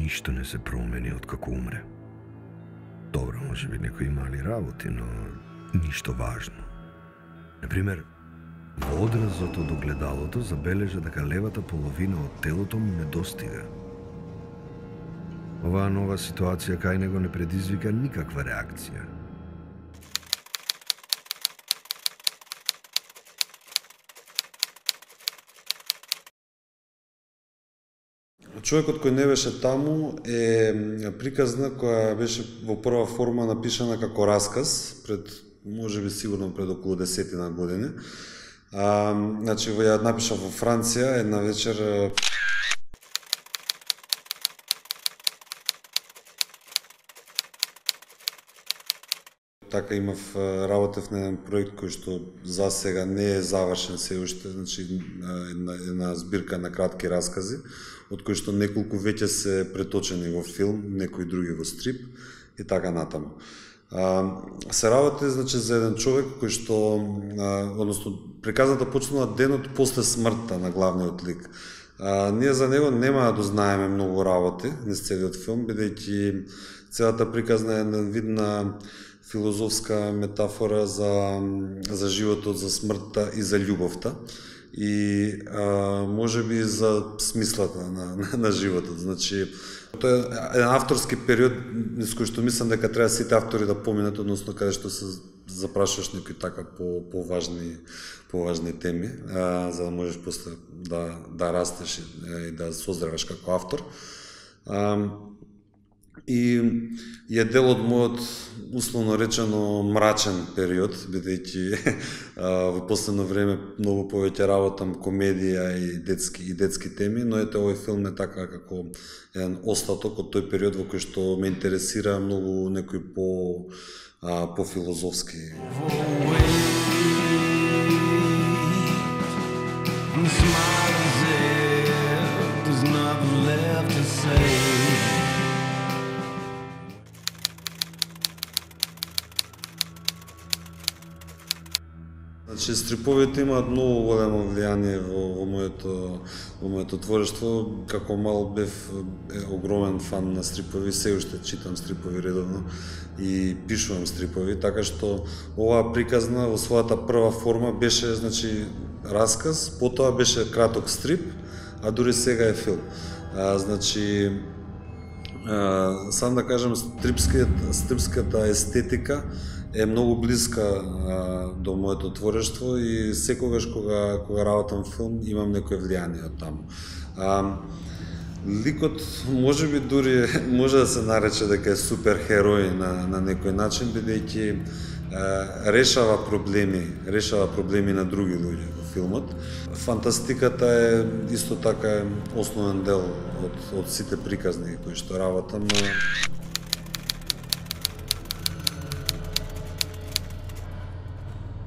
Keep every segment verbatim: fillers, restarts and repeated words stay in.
ништо не се промени од како умре. Добро, може би некои мали работи, но ништо важно. Например, во одразот од огледалото забележа дека левата половина од телото му недостига. Оваа нова ситуација кај него не предизвика никаква реакција. Човекот кој не беше таму е приказна која беше во прва форма напишана како расказ пред, можеби сигурно пред околу десетина години. А, значи, ја напиша во Франција една вечер. Така имав работев на еден проект кој што за сега не е завршен се уште, значи една, една збирка на кратки раскази, од кои што неколку веќе се преточени во филм, некои други во стрип и така натаму. А, се работи, значи, за еден човек кој што, а, односно, приказната почнала денот после смртта на главниот лик. А, ние за него нема да дознаеме многу работи низ целиот филм, бидејќи целата приказна е една видна филозофска метафора за, за животот, за смртта и за љубовта. И а, може би за смислата на, на, на животот. Значи, тоа е еден авторски период низ кој што мислам дека треба сите автори да поминат, односно каде што се запрашуваш некои така по поважни поважни теми, а, за да можеш после да да растеш и, и да созреваш како автор. А, и е дел од мојот, условно речено, мрачен период, бидејќи во последно време многу повеќе работам комедија и детски и детски теми, но ете овој филм е така како еден остаток од тој период во кој што ме интересира многу некои по а, по филозофски. Значи, стриповите имаат многу големо влијание во, во моето во моето творештво. Како мал бев е, огромен фан на стрипови, се уште читам стрипови редовно и пишувам стрипови, така што оваа приказна во својата прва форма беше, значи, расказ, потоа беше краток стрип, а дури сега е филм. А, значи, а, сам да кажам, стрипската, стрипската естетика е многу блиска а, до моето творештво и секогаш кога кога работам филм имам некое влијание од таму. А, ликот можеби дури може да се нарече дека е суперхерој на на некој начин, бидејќи решава проблеми, решава проблеми на други луѓе во филмот. Фантастиката е исто така основен дел од од сите приказни кои што работам.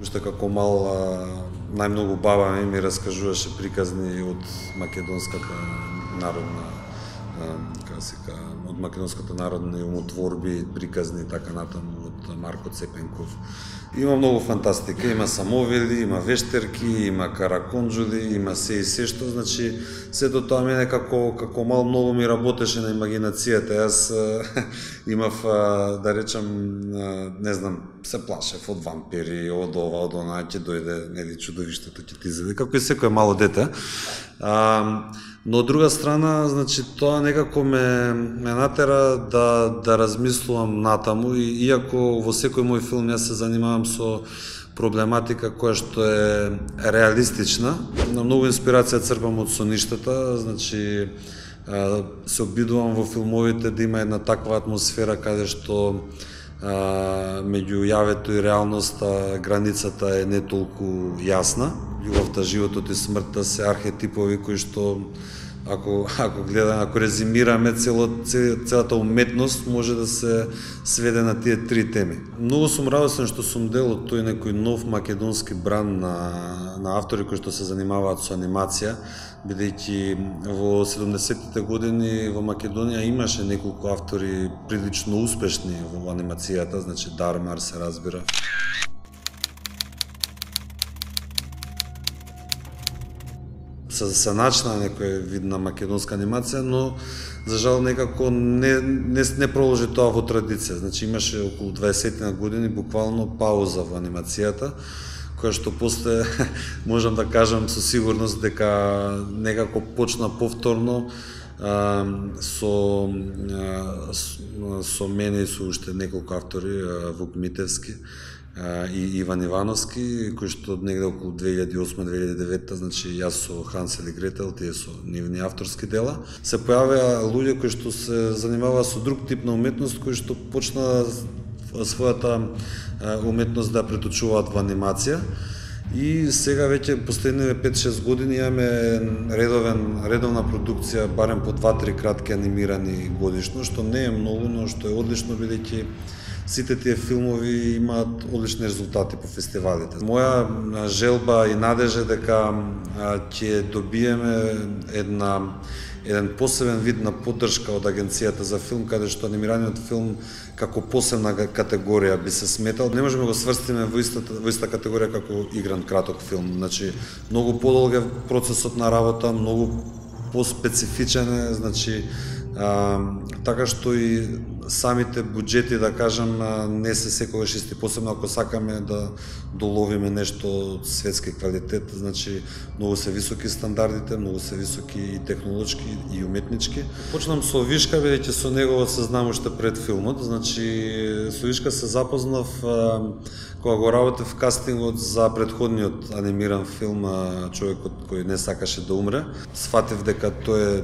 Уште како мал најмногу баба ми ми раскажуваше приказни од македонската народна, како се ка, од македонската народни умотворби, приказни така натаму од Марко Цепенков. Има многу фантастика, има самовели, има вештерки, има караконџули, има се и се што, значи сето тоа мене како како мал многу ми работеше на имагинацијата. Јас имав, да речам, не знам, се плашев од вампири, од ова, од она, ќе дојде, нели, чудовиштето ќе ти изеде, како и секое мало дете. А, но од друга страна, значи, тоа некако ме, ме натера да, да размислувам натаму, и иако во секој мој филм јас се занимавам со проблематика која што е реалистична, на многу инспирација црпам од соништата, значи, се обидувам во филмовите да има една таква атмосфера каде што а, меѓу јавето и реалноста границата е не толку јасна. Љубовта, животот и смртта се архетипови кои што ако ако гледаме, ако резимираме цело, целата уметност може да се сведе на тие три теми. Многу сум радосен што сум дел од тој некој нов македонски бран на на автори кои што се занимаваат со анимација, бидејќи во седумдесеттите години во Македонија имаше неколку автори прилично успешни во анимацијата, значи Дармар се разбира. се, се начина некој вид на македонска анимација, но за жал некако не, не, не продолжи тоа во традиција. Значи имаше околу дваесет години буквално пауза во анимацијата, која што после можам да кажам со сигурност дека некако почна повторно а, со а, со мене и со уште неколку автори, Вук Митевски и Иван Ивановски, кои што негде околу две илјади и осма - две илјади и девета, значи јас со Хансел и Гретел, тие со нивни авторски дела, се појавија луѓе кои што се занимаваа со друг тип на уметност, кои што почна својата уметност да преточуваат во анимација. И сега веќе последниве пет-шест години имаме редовен редовна продукција, барем по два-три кратки анимирани годишно, што не е многу, но што е одлично, бидејќи сите тие филмови имаат одлични резултати по фестивалите. Моја желба и надежа дека ќе добиеме една еден посебен вид на поддршка од Агенцијата за филм, каде што анимираниот филм како посебна категорија би се сметал. Не можеме го сврстиме во истата, во иста категорија како игран краток филм. Значи, многу подолг е процесот на работа, многу поспецифичен е, значи, а, така што и самите буџети, да кажам, не се секогаш исти, посебно ако сакаме да доловиме нешто од светски квалитет, значи многу се високи стандардите, многу се високи и технолошки и уметнички. Почнам со Вишка, бидејќи со него се знам уште пред филмот, значи со Вишка се запознав кога го работев кастингот за претходниот анимиран филм Човекот кој не сакаше да умре. Сфатив дека тој е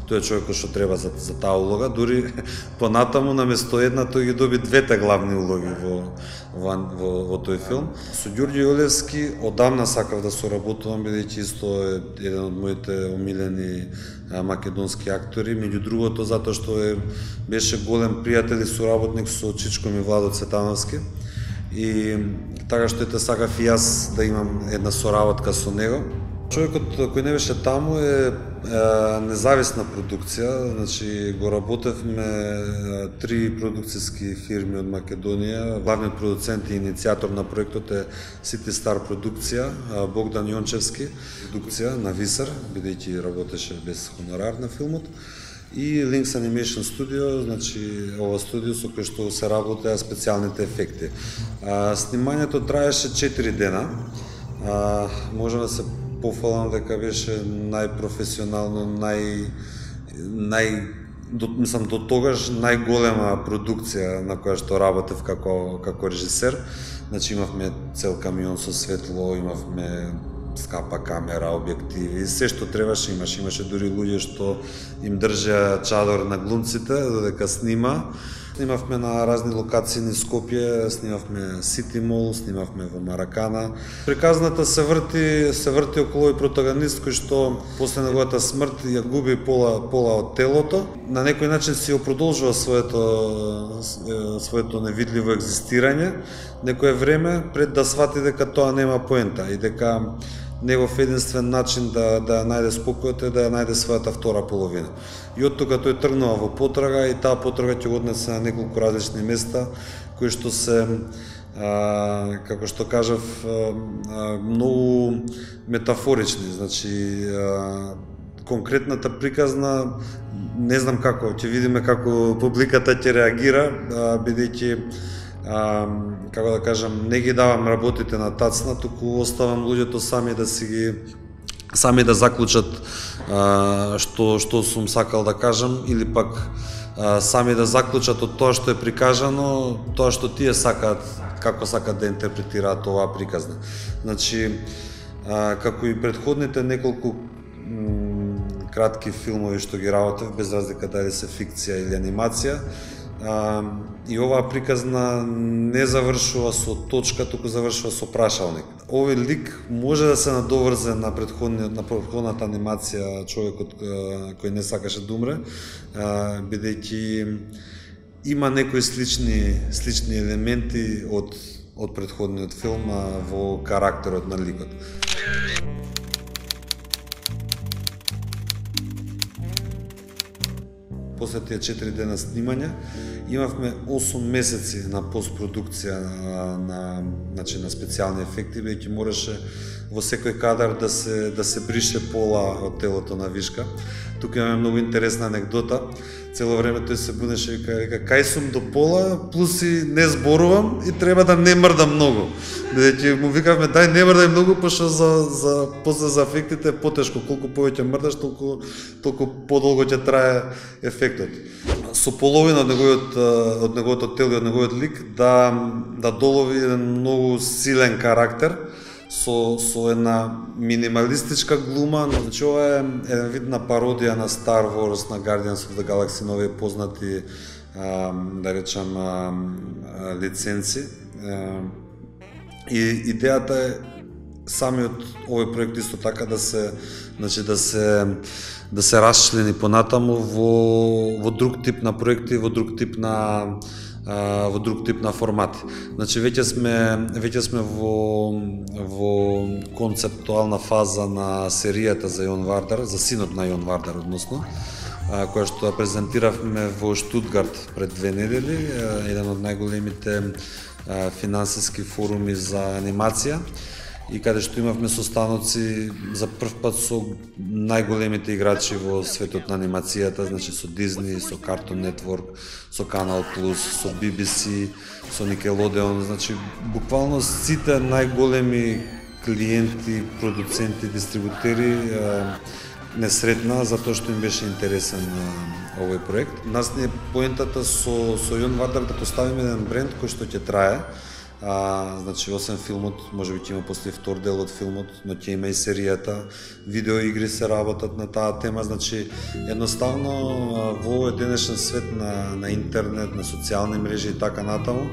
тој е човекот што треба за, за таа улога, дури понатаму наместо една тој ги доби двете главни улоги во во, во, во тој филм. Со Ѓорѓе Јолевски одамна сакав да соработувам, бидејќи исто е еден од моите омилени а, македонски актори, меѓу другото затоа што е беше голем пријател и соработник со Чичко ми Владо Цветановски. И така што ете сакав и јас да имам една соработка со него. Човекот кој не беше таму е, е независна продукција, значи го работевме три продукцијски фирми од Македонија. Главниот продуцент и иницијатор на проектот е City Star продукција, Богдан Јончевски продукција на Висар, бидејќи работеше без хонорар на филмот. И Links Animation Studio, значи ова студио со кој што се работеа специјалните ефекти. А, снимањето траеше четири дена. А, можам да се пофалам дека беше најпрофесионално, нај нај до, мислам до тогаш најголема продукција на која што работев како како режисер. Значи имавме цел камион со светло, имавме скапа камера, објективи, се што требаше имаше, имаше дури луѓе што им држеа чадор на глумците додека снима. Снимавме на разни локации низ Скопје, снимавме Сити Мол, снимавме во Маракана. Приказната се врти, се врти околу овој протагонист кој што после неговата смрт ја губи пола пола од телото. На некој начин си ја продолжува своето своето невидливо екзистирање некое време пред да свати дека тоа нема поента и дека негов единствен начин да да најде спокојот е да ја најде својата втора половина. И од тука тој тргнува во потрага и таа потрага ќе го однесе на неколку различни места кои што се а, како што кажав а, многу метафорични, значи а, конкретната приказна не знам како, ќе видиме како публиката ќе реагира, бидејќи А, како да кажам, не ги давам работите на тацна, туку оставам луѓето сами да си ги сами да заклучат а, што што сум сакал да кажам или пак а, сами да заклучат од тоа што е прикажано, тоа што тие сакаат, како сакаат да интерпретираат оваа приказна. Значи, а, како и претходните неколку кратки филмови што ги работев, без разлика дали се фикција или анимација, А, и оваа приказна не завршува со точка, туку завршува со прашалник. Овој лик може да се надоврзе на претходниот на претходната анимација Човекот кој не сакаше да умре, бидејќи има некои слични слични елементи од од претходниот филм во карактерот на ликот. После тие четири дена снимање, имавме осум месеци на постпродукција на, на, значи, на специјални ефекти, бидејќи мораше во секој кадар да се да се брише пола од телото на Вишка. Тука имаме многу интересна анегдота. Цело време тој се бунеше и вика, кај сум до пола, плюс и не зборувам и треба да не мрдам многу. Бидејќи му викавме дај не мрдај многу, пошто за за после за ефектите е потешко, колку повеќе мрдаш, толку толку подолго ќе трае ефектот. Со половина од неговиот од неговото тело и од неговиот лик да да долови еден многу силен карактер со со една минималистичка глума. Значи ова е еден вид на пародија на Star Wars, на Guardians of the Galaxy, на овие познати а, да речам а, лиценци. А, и идејата е самиот овој проект исто така да се значи да се да се расчлени понатаму во во друг тип на проекти, во друг тип на во друг тип на формати. Значи веќе сме веќе сме во во концептуална фаза на серијата за Јон Вардар, за синот на Јон Вардар односно, која што ја презентиравме во Штутгарт пред две недели, еден од најголемите финансиски форуми за анимација, и каде што имавме состаноци за прв пат со најголемите играчи во светот на анимацијата, значи со Disney, со Cartoon Network, со Canal Plus, со Би Би Си, со Nickelodeon, значи буквално сите најголеми клиенти, продуценти, дистрибутери не сретна затоа што им беше интересен овој проект. Нас не е поентата со со Јон Вардар да поставиме еден бренд кој што ќе трае. А, значи, освен филмот, може би ќе има после втор дел од филмот, но ќе има и серијата, видеоигри се работат на таа тема, значи едноставно во овој денешен свет на, на интернет, на социјални мрежи и така натаму,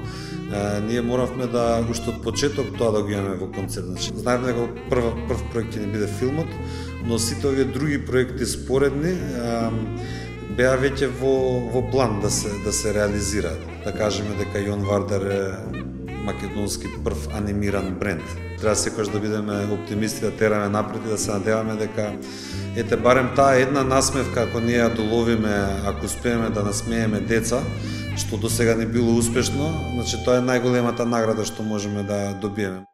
а, ние моравме да уште од почеток тоа да го имаме во концепт. Значи, знаеме дека прв прв проект ќе не биде филмот, но сите овие други проекти споредни а, беа веќе во во план да се да се реализираат. Да кажеме дека Јон Вардар е македонски прв анимиран бренд. Треба секогаш да бидеме оптимисти, да тераме напред и да се надеваме дека ете барем таа една насмевка ако ние ја доловиме, ако успееме да насмееме деца, што досега не било успешно, значи тоа е најголемата награда што можеме да добиеме.